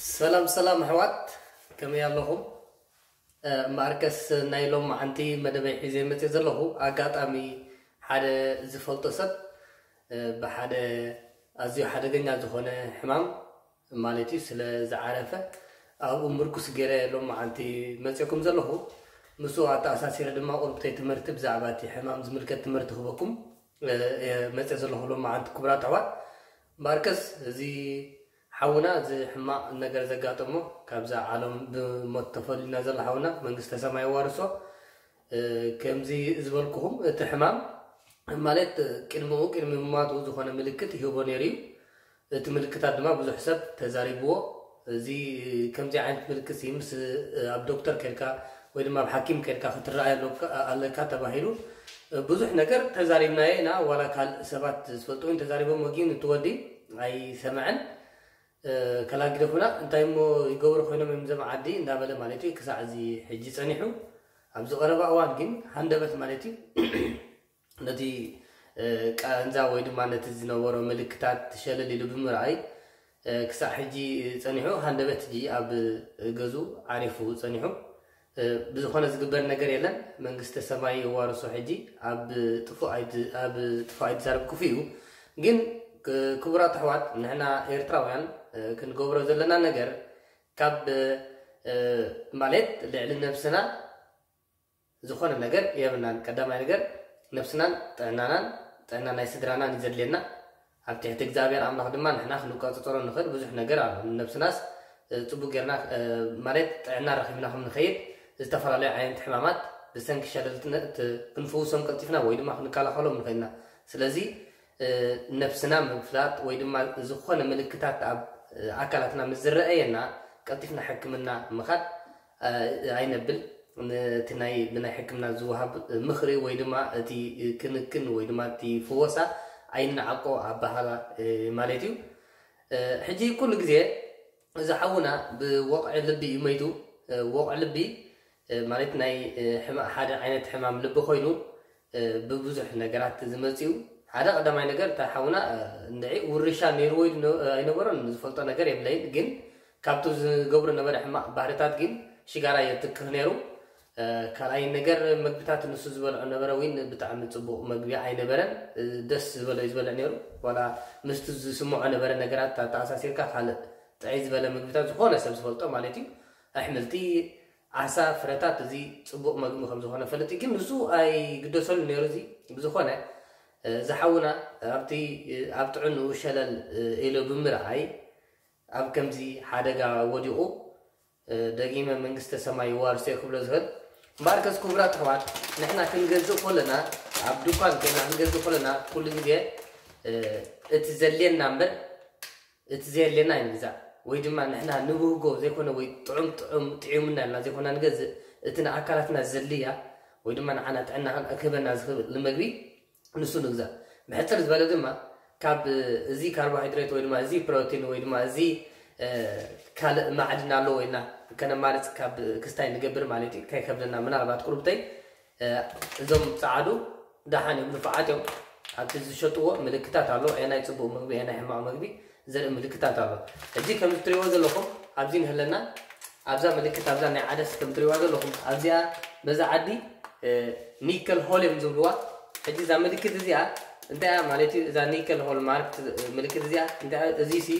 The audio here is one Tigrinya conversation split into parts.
ሰላም ሰላም ኣሕዋት፣ ከመይ ኣለኹም? እምበኣርከስ ናይ ሎማዓንቲ መደበይ ሒዘ መፅእ ዘለኹ ኣጋጣሚ ሓደ ዝፈልጦ ሰብ ብሓደ ኣዝዩ ሓደገኛ ዝኾነ ሕማም ማለት እዩ ስለ ዝዓረፈ ኣብኡ ምርኩስ ገይረ ሎማዓንቲ መፅእኩም ዘለኹ። ምስኡ ኣተኣሳሲረ ድማ ቁርብተይ ትምህርቲ ብዛዕባ እቲ ሕማም ዝምልከት ትምህርቲ ክበኩም መፅእ ዘለኹ ሎማዓንቲ ክቡራት ኣሕዋት። እምበኣርከስ እዚ ሓውና እዚ ሕማቕ ነገር ዘጋጠሞ ካብዛ ዓለም ብሞት ተፈልዩና ዘሎ ሓውና መንግስተ ሰማይ የዋርሶ። ከምዚ ዝበልኩኹም እቲ ሕማም ማለት ቅድሚኡ ቅድሚ ምማቱ ዝኾነ ምልክት ይህቦ ነይሩ እዩ። እቲ ምልክታት ድማ ብዙሕ ሰብ ተዛሪብዎ። እዚ ከምዚ ዓይነት ምልክት ሲ ምስ ኣብ ዶክተር ከድካ ወይ ድማ ኣብ ሓኪም ከድካ ክትረኣይ ኣለካ ተባሂሉ ብዙሕ ነገር ተዛሪብናዮ ኢና። ዋላ ካልእ ሰባት ዝፈልጡ እውን ተዛሪቦሞ ግን እቲ ወዲ ኣይሰምዐን። ከላግደፉና እንታይ እሞ ይገብሩ ኮይኖም እዮም ዘም ዓዲ እንዳበለ ማለት እዩ ክሳዕ እዚ ሕጂ ጸኒሑ። ኣብዚ ቀረባ እዋን ግን ሃንደበት ማለት እዩ ነቲ ቃንዛ ወይ ድማ ነቲ ዝነበሮ ምልክታት ሸለል ኢሉ ብምርኣይ ክሳዕ ሕጂ ጸኒሑ ሃንደበት ሕጂ ኣብ ገዙ ዓሪፉ ጸኒሑ። ብዝኾነ ዝግበር ነገር የለን። መንግስተ ሰማይ የዋርሶ። ሕጂ ኣብ ጥፉእ ኣይድ- ኣብ ጥፉእ ኣይድዛረብ ክፉእ እዩ። ግን ክ- ክቡራት ኣሕዋት ንሕና ኤርትራውያን ክንገብሮ ዘለና ነገር ካብ ማለት ልዕሊ ነብስና ዝኾነ ነገር የብልናን። ቀዳማይ ነገር ነብስናን ጥዕናናን ጥዕና ናይ ስድራናን እዩ ዘድልየና። ኣብ ትሕቲ እግዚኣብሔር ኣምላኽ ድማ ንሕና ክንቆጻጸሮ ንኽእል ብዙሕ ነገር ኣሎ። ንነብስናስ ጽቡቅ ጌርና ማለት ጥዕና ረኺብና ከም ንኸይድ ዝተፈላለዩ ዓይነት ሕማማት ብሰንኪ ሸለልትነት ክንፍውሶም ቀልጢፍና ወይ ድማ ክንከላኸሎም ንኽእልና። ስለዚ ነብስና ምፍላጥ ወይ ድማ ዝኾነ ምልክታት ኣብ ኣካላትና ምስ ዝረኣየና ቀልጢፍና ሕክምና ምኻድ ኣይነብል። ነቲ ናይ ብናይ ሕክምና ዝወሃብ ምኽሪ ወይ ድማ እቲ ክንክን ወይ ድማ እቲ ፍወሳ ኣይንዓቆ ኣባሃላ ማለት እዩ። ሕጂ ኩሉ ግዜ እዚ ሓውና ብወቕዒ ልቢ እዩ መይቱ። ወቕዒ ልቢ ማለት ናይ ሓደ ዓይነት ሕማም ልቢ ኮይኑ ብብዙሕ ነገራት ዝመፅኡ ሓደ ቀዳማይ ነገር እታ ሓውና እንድዒ ውርሻ ነይርዎ ኣይነበሮን ዝፈልጦ ነገር የብለይን። ግን ካብቲ ዝገብሮ ነበረ ሕማቕ ባህርታት ግን ሽጋራ የትክኽ ነይሩ። ካልኣይ ነገር መግብታት ንሱ ዝበልዖ ነበረ እውን ብጣዕሚ ፅቡቕ መግቢ ኣይነበረን። ደስ ዝበሎ እዩ ዝበልዕ ነይሩ። ዋላ ምስቲ ዝስምዖ ነበረ ነገራት ኣተኣሳሲርካ ካልእ ጥዕይ ዝበለ ምግብታት ዝኾነ ሰብ ዝፈልጦ ማለት እዩ ኣሕምልቲ ዓሳ ፍረታት እዚ ፅቡቕ መግቢ ከም ዝኾነ ፈልጥ ግን ንሱ ኣይግደሰሉ ነይሩ። እዚ ብዝኾነ ዝሓውና ኣብቲ ኣብ ጥዕንኡ ሸለል ኢሉ ብምርኣይ ኣብ ከምዚ ሓደጋ ወዲቑ ደጊመ መንግስተ ሰማይ ይዋርሶ ክብሎ ዝኽእል። እምበኣርከስ ክቡራት ኣሕዋት ንሕና ክንገዝእ ከለና ኣብ ድኳን ኮይና ክንገዝእ ከለና ኩሉ ግዜ እቲ ዘድልየና እምበር እቲ ዘየድልየና ኣይንግዛእ። ወይ ድማ ንሕና ንብህጎ ዘይኮነ ወይ ጥዑም ጥዑም ጥዑምና ኢልና ዘይኮና ንገዝእ እቲ ንኣካላትና ዘድልያ ወይ ድማ ንዓና ጥዕና ክህበና ዝኽእል መግቢ ንሱ ንግዛእ። ብሕፅር ዝበለ ድማ ካብ እዚ ካርቦሃይድሬት ወይ ድማ እዚ ፕሮቲን ወይ ድማ እዚ ካልእ ማዕድን ኣለዎ ኢልና ከነማርፅ ካብ ክስታይ ንገብር ማለት እዩ። ከይከብደና ምናልባት ቁርብተይ እዞም ፀዓዱ ደሓን እዮም ንፉዓት እዮም። ኣብቲ ዝሸጥዎ ምልክታት ኣሎ። ናይ ፅቡቅ ምግቢ ናይ ሕማቅ ምግቢ ዘርኢ ምልክታት ኣሎ። ሕጂ ከምዚ ትሪእዎ ዘለኹም ኣብዚ ንህለና ኣብዛ ምልክት ኣብዛ ናይ ዓደስ ከም ትሪእዋ ዘለኹም ኣብዚኣ በዛ ዓዲ ኒከል ሆል እዮም ዝብልዋ። ሕጂ እዛ ምልክት እዚኣ እንታይ እያ ማለት እዩ? እዛ ኒከል ሆል ማርክ ምልክት እዚኣ እንታይ እያ? እዚ ሲ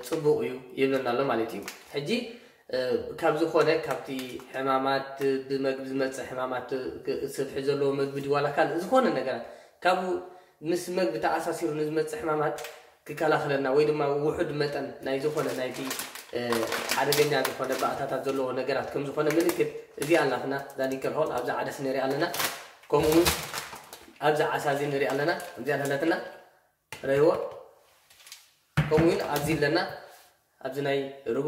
ፅቡቕ እዩ ይብለና ኣሎ ማለት እዩ። ሕጂ ካብ ዝኾነ ካብቲ ሕማማት ብመግቢ ዝመፅእ ሕማማት ስብሒ ዘለዎ መግቢ ድዋላ ካልእ ዝኾነ ነገራት ካብኡ ምስ መግቢ ተኣሳሲሩ ንዝመፅእ ሕማማት ክከላኸለና ወይ ድማ ውሑድ መጠን ናይ ዝኾነ ናይቲ ሓደገኛ ዝኾነ ባእታታት ዘለዎ ነገራት ከም ዝኾነ ምልክት እዚኣ ኣላትና ዛኒከል ሆል ኣብዛ ዓደስ ንሪኣ ኣለና። ከምኡ እውን ኣብዛ ዓሳ እዚ ንሪኣ ኣለና። እዚኣ ኣለትና ረይዎ ከምኡ እውን ኣብዚ ኣለና ኣብዚ ናይ ርጎ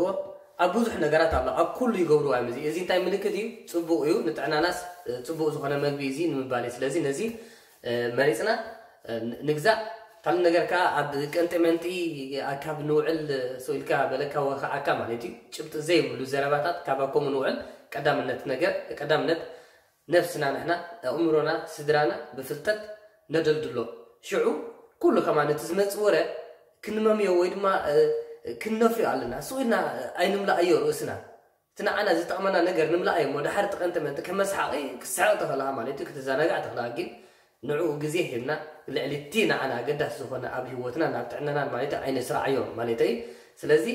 ኣብ ብዙሕ ነገራት ኣሎ። ኣብ ኩሉ ይገብርዋ እዮም። እዚ እዚ እንታይ ምልክት እዩ? ፅቡቕ እዩ ንጥዕናናስ ፅቡቕ ዝኾነ መግቢ እዚ ንምባል እዩ። ስለዚ ነዚ መሪፅና ንግዛእ። ካልእ ነገር ከዓ ኣብ ቀንጢ መንጢ ኣካብ ንውዕል ሰው ኢልካ በለካ ወኸዓካ ማለት እዩ። ጭብጢ ዘይብሉ ዘረባታት ካብ ኣኮሙ ንውዕል ቀዳምነት ነገር ቀዳምነት ነፍስና ንሕና ኣእምሮና ስድራና ብፍልጠት ነደልድሎ። ሽዑ ኩሉ ከማን እቲ ዝመጽእ ወረ ክንመምዮ ወይ ድማ ክንነፍዮ ኣለና። ስቕ ኢልና ኣይንምላኣዮ ርእስና። እቲ ንዓና ዝጠቕመና ነገር ንምላኣዮ እሞ፣ ድሓር እቲ ቀንጢ መንጢ ከም መስሓቒ ክትስሕቕ ትኽእልኻ ማለት እዩ፣ ክትዘናጋዕ ትኽእልኻ። ግን ንዕኡ ግዜ ሂብና፣ ልዕሊ እቲ ንዓና ኣገዳሲ ዝኾነ ኣብ ህይወትና፣ ናብ ጥዕናናን ማለት እዩ፣ ኣይነስርዓዮ ማለት እዩ። ስለዚ፣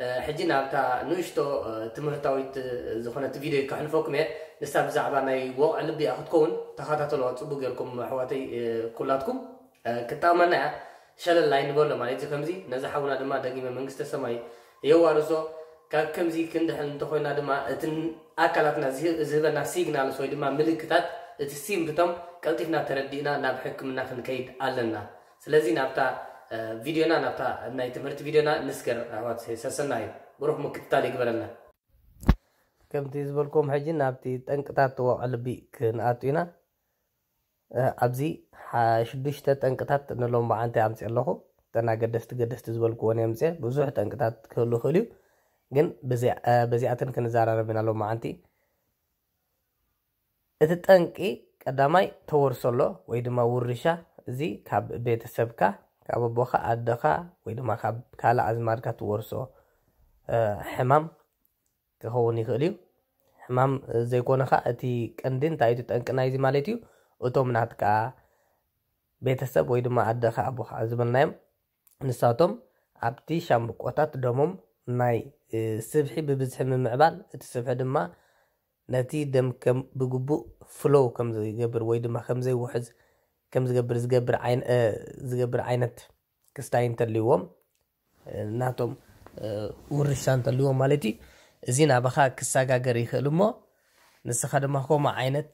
እ፣ ሕጂ ናብታ ንእሽቶ፣ እ፣ ትምህርታዊት፣ እ፣ ዝኾነት ቪድዮ ከሕልፈኩም እየ። ንሳ ብዛዕባ ናይ ወቕዒ ልቢ እያ ክትከውን። ተኸታተልዋ ጽቡቕ ጌርኩም ኣሕዋተይ፣ እ፣ ኩላትኩም። እ፣ ክትጠቕመና እያ። ሸለል ኣይንበሎ ማለት እዩ። ከምዚ ነዚ ሓውና ድማ ደጊመ መንግስተ ሰማይ የዋርሶ። ካብ ከምዚ ክንድሕን እንተኾይና ድማ እቲ ኣካላትና ዝህ-፣ ዝህበና ሲግናልስ ወይ ድማ ምልክታት፣ እቲ ሲምፕቶም ቀልጢፍና ተረዲእና ናብ ሕክምና ክንከይድ ኣለና። ስለዚ ናብታ፣ እ፣ ቪድዮና፣ ናብታ ናይ ትምህርቲ ቪድዮና ንስገር ኣሕዋት። ሰሰናዩ ብሩኽ ምክትታል ይግበረልና። ከምቲ ዝበልኩም ሕጂ ናብቲ ጠንቅታት ወቕዒ ልቢ ክንኣቱ ኢና። እ፣ ኣብዚ ሓ-፣ ሽዱሽተ ጠንቅታት ንሎም መዓንቲ ኣምፅእ ኣለኹ። እተን ኣገደስቲ ገደስቲ ዝበልክዎን የምፅእ። ብዙሕ ጠንቅታት ክህሉ ይኽእል እዩ፣ ግን በዚ-፣ እ፣ በዚኣተን ክንዘራረብ ኢና ሎም መዓንቲ። እቲ ጠንቂ ቀዳማይ ተወርሶ ኣሎ ወይ ድማ ውርሻ። እዚ ካብ ቤተሰብካ፣ ካብ ኣቦኻ፣ ኣደኻ ወይ ድማ ካብ ካልእ ኣዝማድካ ትወርሶ፣ እ፣ ሕማም ክኸውን ይኽእል እዩ። ሕማም ዘይኮነ ኸኣ እቲ ቀንዲ እንታይ እዩ፣ እቲ ጠንቂ ናይዚ ማለት እዩ፣ እቶም ናትካ ቤተሰብ ወይ ድማ ኣደኻ ኣቦኻ ዝበልናዮም ንሳቶም ኣብቲ ሻምብቆታት ደሞም ናይ፣ እ፣ ስብሒ ብብዝሒ ምምዕባል፣ እቲ ስብሒ ድማ ነቲ ደም ከም ብግቡእ ፍሎው ከም ዘይገብር ወይ ድማ ከም ዘይውሕዝ ከም ዝገብር ዝገብር ዓይን-፣ እ፣ ዝገብር ዓይነት ክስታይ እንተልይዎም፣ እ፣ ናቶም፣ እ፣ ውርሻ እንተልይዎም ማለት እዩ። እዚ ናባኻ ክሰጋገር ይኽእል እሞ ንስኻ ድማ ከምኡ ዓይነት፣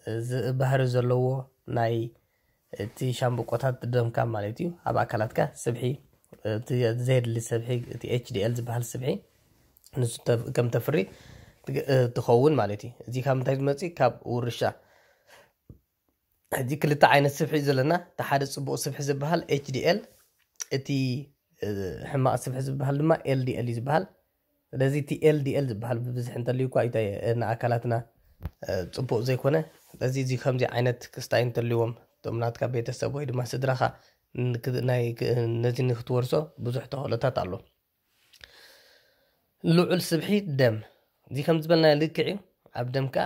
እ፣ ዝ-፣ ባህሪ ዘለዎ ናይ እቲ ሻምብቆታት ደምካ ማለት እዩ፣ ኣብ ኣካላትካ ስብሒ፣ እቲ ዘየድሊ ስብሒ፣ እቲ ኤች ዲ ኤል ዝበሃል ስብሒ ንሱ ተ-፣ ከም ተፍሪ ትግ-፣ እ፣ ትኸውን ማለት እዩ። እዚ ካብ ምንታይ ዝመጽእ? ካብ ውርሻ። ሕጂ ክልተ ዓይነት ስብሒ እዩ ዘለና። እቲ ሓደ ጽቡቕ ስብሒ ዝበሃል ኤች ዲ ኤል፣ እቲ፣ እ፣ ሕማቕ ስብሒ ዝበሃል ድማ ኤል ዲ ኤል እዩ ዝበሃል። ስለዚ እቲ ኤል ዲ ኤል ዝበሃል ብብዝሒ እንተልዩ እኳ፣ እንታይ፣ እ፣ ንኣካላትና፣ እ፣ ጽቡቕ ዘይኮነ። ስለዚ እዚ ከምዚ ዓይነት ክስታይ እንተልዎም፣ እቶም ናትካ ቤተሰብ ወይ ድማ ስድራኻ ንክ-፣ ናይ ክ-፣ ነዚ ንክትወርሶ ብዙሕ ተኽእሎታት ኣሎ። ልዑል ስብሒ ደም፣ እዚ ከም ዝበልናዮ ልክዕ እዩ። ኣብ ደምካ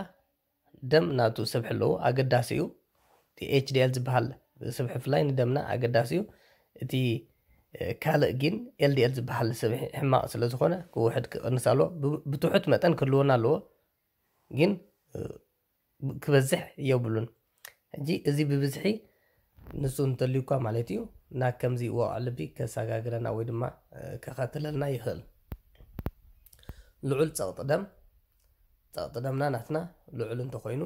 ደም ናቱ ስብሒ ኣለዎ፣ ኣገዳሲ እዩ። እቲ ኤች ዲ ኤል ዝበሃል ስብሒ ብፍላይ ንደምና ኣገዳሲ እዩ። እቲ፣ እ፣ ካልእ ግን ኤል ዲ ኤል ዝበሃል ስብሒ ሕማቕ ስለ ዝኾነ ክውሕድ ክቕንስ ኣለዎ። ብ-፣ ብትሑት መጠን ክህልወና ኣለዎ፣ ግን፣ እ፣ ክበዝሕ የብሉን። ሕጂ እዚ ብብዝሒ ንሱ እንተልዩ እኳ ማለት እዩ፣ ናብ ከምዚ ወቕዒ ልቢ ከሰጋግረና ወይ ድማ፣ እ፣ ከኸትለልና ይኽእል። ልዑል ጸቕጢ ደም፣ ጸቕጢ ደምና ናትና ልዑል እንተኾይኑ፣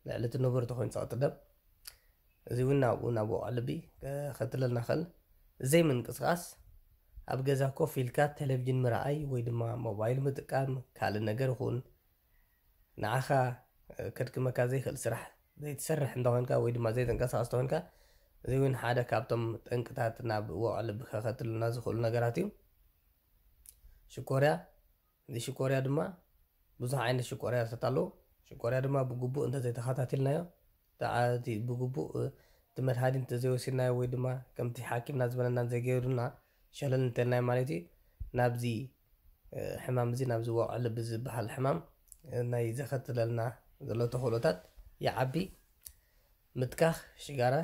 ልዕሊ እቲ ንቡር እንተኾይኑ ጸቕጢ ደም፣ እዚ እውን ናብኡ ናብ ወቕዒ ልቢ ከኸትለልና ይኽእል። ዘይምንቅስቓስ፣ ኣብ ገዛ ኮፍ ኢልካ ቴሌቪዥን ምርኣይ ወይ ድማ ሞባይል ምጥቃም፣ ካልእ ነገር ይኹን፣ ንዓኻ፣ እ፣ ከድክመካ ዘይክእል ስራሕ ዘይትሰርሕ እንተኾይንካ ወይ ድማ ዘይትንቀሳቐስ እንተኾይንካ፣ እዚ እውን ሓደ ካብቶም ጠንቅታት ናብ ወቕዒ ልቢ ከኸትሉና ዝኽእሉ ነገራት እዩ። ሽኮርያ፣ እዚ ሽኮርያ ድማ ብዙሕ ዓይነት ሽኮርያታት ኣለዉ። ሽኮርያ ድማ ብግቡእ እንተዘይተኸታቲልናዮ፣ ተዓ-፣ እቲ ብግቡእ፣ እ፣ እቲ መድሃኒት እንተዘይወሲድናዮ ወይ ድማ ከምቲ ሓኪምና ዝበለና እንዘይገይሩና ሸለል እንተልናዮ ማለት እዩ፣ ናብዚ፣ እ፣ ሕማም እዚ፣ ናብዚ ወቕዒ ልቢ ዝበሃል ሕማም፣ እ፣ ናይ ዘኸትለልና ዘሎ ተኽእሎታት ይዓቢ። ምትካኽ ሽጋራ፣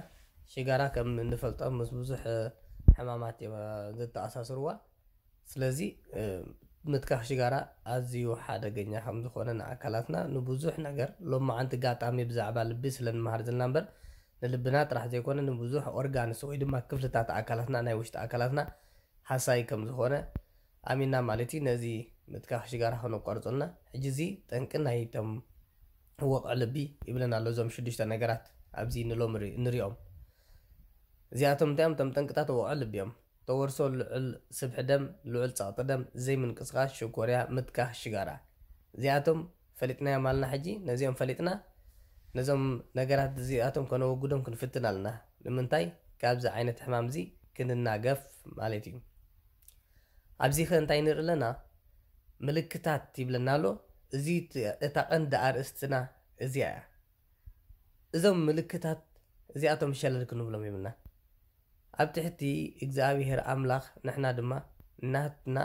ሽጋራ ከም እንፈልጦ ምስ ብዙሕ፣ እ፣ ሕማማት እዮም፣ እ፣ ዘተኣሳስርዋ። ስለዚ፣ እ፣ ምትካኽ ሽጋራ ኣዝዩ ሓደገኛ ከም ዝኾነ ንኣካላትና ንብዙሕ ነገር፣ ሎማዓንቲ ጋጣሚ ብዛዕባ ልቢ ስለ ንመሃር ዘለና እምበር፣ ንልብና ጥራሕ ዘይኮነ ንብዙሕ ኦርጋንስ ወይ ድማ ክፍልታት ኣካላትና፣ ናይ ውሽጢ ኣካላትና ሃሳይ ከም ዝኾነ ኣሚንና ማለት እዩ። ነዚ ምትካኽ ሽጋራ ከነቋርጾ ኣለና። ሕጂ እዚ ጠንቂ ናይቶም ወቕዒ ልቢ ይብለና ኣሎ። እዞም ሽዱሽተ ነገራት ኣብዚ ንሎም ንሪ-፣ ንሪኦም። እዚኣቶም እንታይ እዮም? እቶም ጠንቅታት ወቕዒ ልቢ እዮም። ተወርሶ ልዑል ስብሒ ደም፣ ልዑል ጸቕጢ ደም፣ ዘይምንቅስቓስ፣ ሽኮርያ፣ ምትካኽ ሽጋራ። እዚኣቶም ፈሊጥናዮም ኣለና። ሕጂ ነዚኦም ፈሊጥና፣ ነዞም ነገራት እዚኣቶም ከነወግዶም ክንፍትን ኣለና። ንምንታይ? ካብዚ ዓይነት ሕማም እዚ ክንናገፍ ማለት እዩ። ኣብዚ ኸ እንታይ ንርኢ ኣለና? ምልክታት ይብለና ኣሎ። እዚ ት-፣ እታ ቀንዲ ኣርእስትና እዚኣ እያ። እዞም ምልክታት እዚኣቶም ሸለል ክንብሎም የብልና። ኣብ ትሕቲ እግዚኣብሔር ኣምላኽ ንሕና ድማ ናትና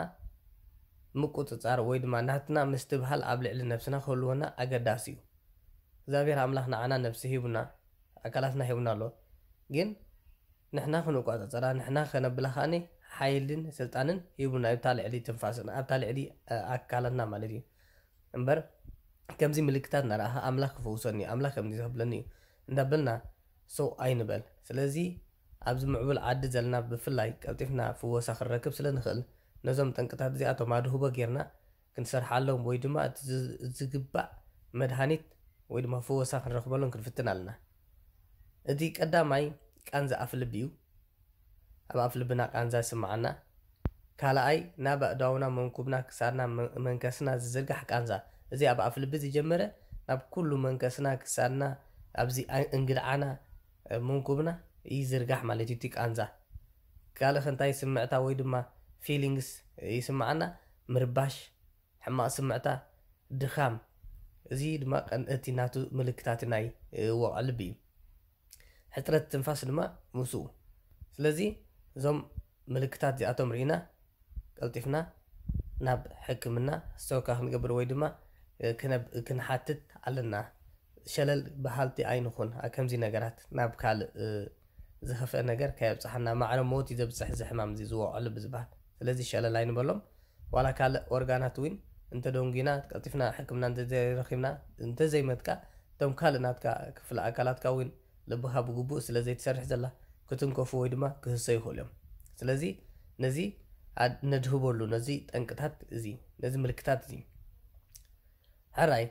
ምቁጽጻር ወይ ድማ ናትና ምስትብሃል ኣብ ልዕሊ ነብስና ክህልወና ኣገዳሲ እዩ። እግዚኣብሔር ኣምላኽ ንዓና ነብሲ ሂቡና፣ ኣካላትና ሂቡና ኣሎ። ግን ንሕና ክንቆጻጸራ፣ ንሕና ከነብላ ከኣኒ ሓይልን ስልጣንን ሂቡና፣ ኣብታ ልዕሊ ትንፋስና፣ ኣብታ ልዕሊ ኣካላትና ማለት እዩ። እምበር ከምዚ ምልክታት እናረኣኻ ኣምላኽ ክፍውሰኒ እዩ፣ ኣምላኽ ከምዚ ክብለኒ እዩ እንዳበልና ሰው ኣይንበል። ስለዚ ኣብዚ ምዕቡል ዓዲ ዘለና ብፍላይ ቀልጢፍና ፍወሳ ክንረክብ ስለ ንኽእል፣ ነዞም ጠንቅታት እዚኣቶም ኣድህቦ ጌርና ክንሰርሓሎም ወይ ድማ እቲ ዝ- ዝግባእ መድሃኒት ወይ ድማ ፍወሳ ክንረኽበሎም ክንፍትን ኣለና። እቲ ቀዳማይ ቃንዛ ኣፍ ልቢ እዩ። ኣብ ኣፍ ልብና ቃንዛ ይስምዓና። ካልኣይ ናብ ኣእዳውና፣ መንኩብና፣ ክሳድና፣ መ- መንከስና ዝዝርጋሕ ቃንዛ። እዚ ኣብ ኣፍ ልቢ ዝጀመረ ናብ ኩሉ መንከስና፣ ክሳድና፣ ኣብዚ ኣይ- እንግድዓና፣ መንኩብና ይዝርጋሕ ማለት እዩ እቲ ቃንዛ። ካልእ እንታይ ስምዕታ ወይ ድማ ፊሊንግስ ይስምዓና? ምርባሽ፣ ሕማቕ ስምዕታ፣ ድኻም። እዚ ድማ ቀን- እቲ ናቱ ምልክታት ናይ ወቕዒ ልቢ እዩ። ሕፅረት ትንፋስ ድማ ምስኡ። ስለዚ እዞም ምልክታት እዚኣቶም ርኢና ቀልጢፍና ናብ ሕክምና ስተወካ ክንገብር ወይ ድማ ክነብ- ክንሓትት ኣለና። ሸለል በሃልቲ ኣይንኹን። ኣብ ከምዚ ነገራት ናብ ካልእ ዝኸፍአ ነገር ከየብፅሓና። ማዕረ ሞት እዩ ዘብፅሕ እዚ ሕማም እዚ ዝወቕዐሉ ብዝበሃል። ስለዚ ሸለል ኣይንበሎም። ዋላ ካልእ ኦርጋናት እውን እንተደንጉና ቀልጢፍና ሕክምና እንተዘይረኺብና እንተዘይመጥካ እቶም ካልእ ናትካ ክፍለ ኣካላትካ እውን ልብኻ ብግቡእ ስለ ዘይትሰርሕ ዘላ ክትንከፉ ወይ ድማ ክህሰ ይኽእሉ እዮም። ስለዚ ነዚ ኣድ- ነድህበሉ ነዚ ጠንቅታት እዚ ነዚ ምልክታት እዚ ሕራይ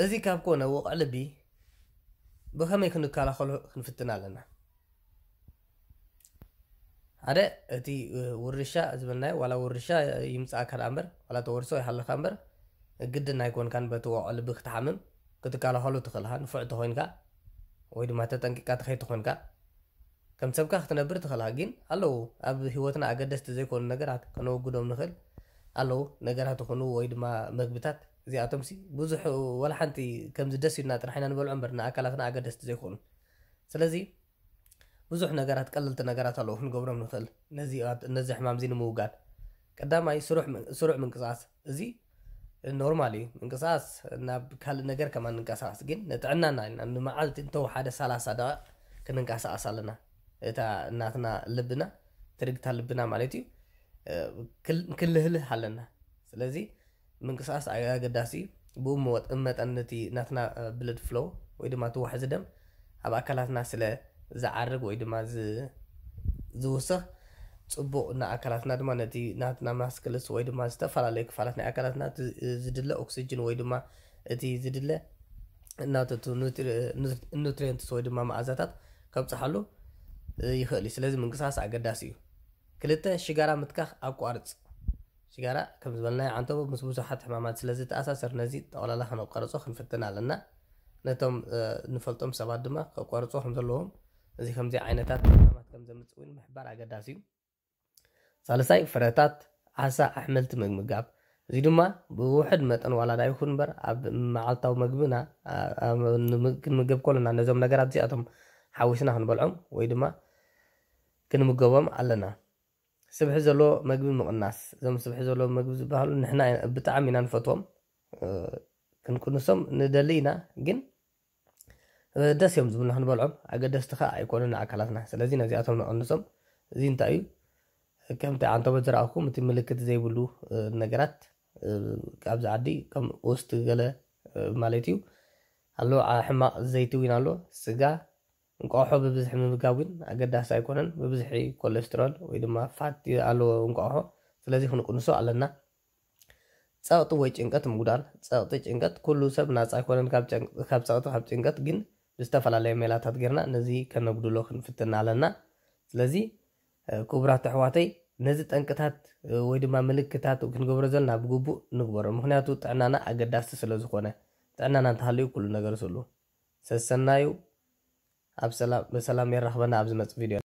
እዚ ካብ ኮነ ወቕዒ ልቢ ብኸመይ ክንከላኸሎ ክንፍትን ኣለና። ሓደ እቲ ውርሻ ዝበልናዮ ዋላ ውርሻ ይምፅኣካ ደኣ እምበር ዋላ ተወርሶ ይሃለካ እምበር ግድን ኣይኮንካን በቲ ወቕዒ ልቢ ክትሓምም ክትከላኸሎ ትኽእልካ ንፉዕ ተኾይንካ ወይ ድማ ተጠንቂቃ ተኸይድ ተኾንካ ከም ሰብካ ክትነብር ትኽእልካ ግን ኣለዉ ኣብ ህይወትና ኣገደስቲ ዘይኮኑ ነገራት ከነወግዶም ንኽእል ኣለዉ ነገራት ይኹኑ ወይ ድማ መግብታት እዚኣቶም ሲ ብዙሕ ወላ ሓንቲ ከምዚ ደስ ኢልና ጥራሕ ኢና ንበልዖ እምበር ንኣካላትና ኣገደስቲ ዘይኮኑ ስለዚ ብዙሕ ነገራት ቀለልቲ ነገራት ኣለዉ ክንገብሮም ንኽእል ነዚ ሕማም እዚ ንምውጋድ ቀዳማይ ስሩዕ ምንቅስቃስ እዚ ኖርማል እዩ ምንቅስቃስ ናብ ካልእ ነገር ከማን ንንቀሳቀስ ግን ንጥዕናና ኢና ንመዓልቲ እንተወሓደ ሰላሳ ደቂቕ ክንንቀሳቀስ ኣለና እታ እናትና ልብና ትርግታ ልብና ማለት እዩ ክንልህልህ ኣለና ስለዚ ምንቅስቃስ ኣገዳሲ እዩ ብኡ መጠን ነቲ ናትና ብለድ ፍሎው ወይ ድማ እቲ ዋሕዚ ደም ኣብ ኣካላትና ስለ ዝዓርግ ወይ ድማ ዝውስኽ ፅቡቕ ንኣካላትና ድማ ነቲ ናትና ማስክልስ ወይ ድማ ዝተፈላለዩ ክፋላት ናይ ኣካላትና ዝድለ ኦክሲጅን ወይ ድማ እቲ ዝድለ እናተቱ ኑትሪየንትስ ወይ ድማ መኣዛታት ከብፅሓሉ ይኽእል እዩ ስለዚ ምንቅስቃስ ኣገዳሲ እዩ ክልተ ሽጋራ ምትካኽ ኣቋርፅ ሽጋራ ከም ዝበልናዮ ዓንተቦ ምስ ብዙሓት ሕማማት ስለ ዝተኣሳሰር ነዚ ጠቕላላ ከነቋርጾ ክንፍትን ኣለና። ነቶም ንፈልጦም ሰባት ድማ ከቋርጽዎ ከም ዘለዎም እዚ ከምዚ ዓይነታት ሕማማት ከም ዘምጽእ እውን ምሕባር ኣገዳሲ እዩ። ሳልሳይ ፍረታት፣ ዓሳ፣ ኣሕምልቲ ምምጋብ። እዚ ድማ ብውሕድ መጠን ዋላ ዳ ይኹን እምበር ኣብ መዓልታዊ መግብና ክንምገብ ከለና ነዞም ነገራት እዚኣቶም ሓዊስና ክንበልዖም ወይ ድማ ክንምገቦም ኣለና። ስብሒ ዘለዎ መግቢ ምቕናስ። እዞም ስብሒ ዘለዎ መግቢ ዝበሃሉ ንሕና ብጣዕሚ ኢና ንፈትዎም። ክንቅንሶም ንደሊ ኢና፣ ግን ደስ እዮም ዝብሉና ክንበልዖም። ኣገደስቲ ኸዓ ኣይኮኑን ንኣካላትና። ስለዚ ነዚኣቶም ንቐንሶም። እዚ እንታይ እዩ? ከምቲ ዓንተቦ ዝረኣኹም እቲ ምልክት ዘይብሉ ነገራት ኣብዚ ዓዲ ከም ኦስት ገለ ማለት እዩ ኣሎ። ሕማቕ ዘይቲ እውን ኣሎ። ስጋ እንቋቑሖ ብብዝሒ ምምጋብ ግን ኣገዳሲ ኣይኮነን። ብብዝሒ ኮለስትሮል ወይ ድማ ፋት ኣለዎ እንቋቑሖ፣ ስለዚ ክንቅንሶ ኣለና። ጸቕጢ ወይ ጭንቀት ምጉዳል። ጸቕጢ፣ ጭንቀት፣ ኩሉ ሰብ ናጻ ኣይኮነን ካብ ጸቕጢ፣ ካብ ጭንቀት፣ ግን ብዝተፈላለየ ሜላታት ጌርና ነዚ ከነጉድሎ ክንፍትን ኣለና። ስለዚ ክቡራት ኣሕዋተይ ነዚ ጠንቅታት ወይ ድማ ምልክታት ክንገብሮ ዘለና ብግቡእ ንግበሮ። ምኽንያቱ ጥዕናና ኣገዳሲ ስለ ዝኾነ። ጥዕናና እንተሃልዩ ኩሉ ነገር ስሉ። ሰሰናዩ ኣብ ሰላም ብሰላም የራኽበና ኣብ ዝመጽእ ቪድዮ።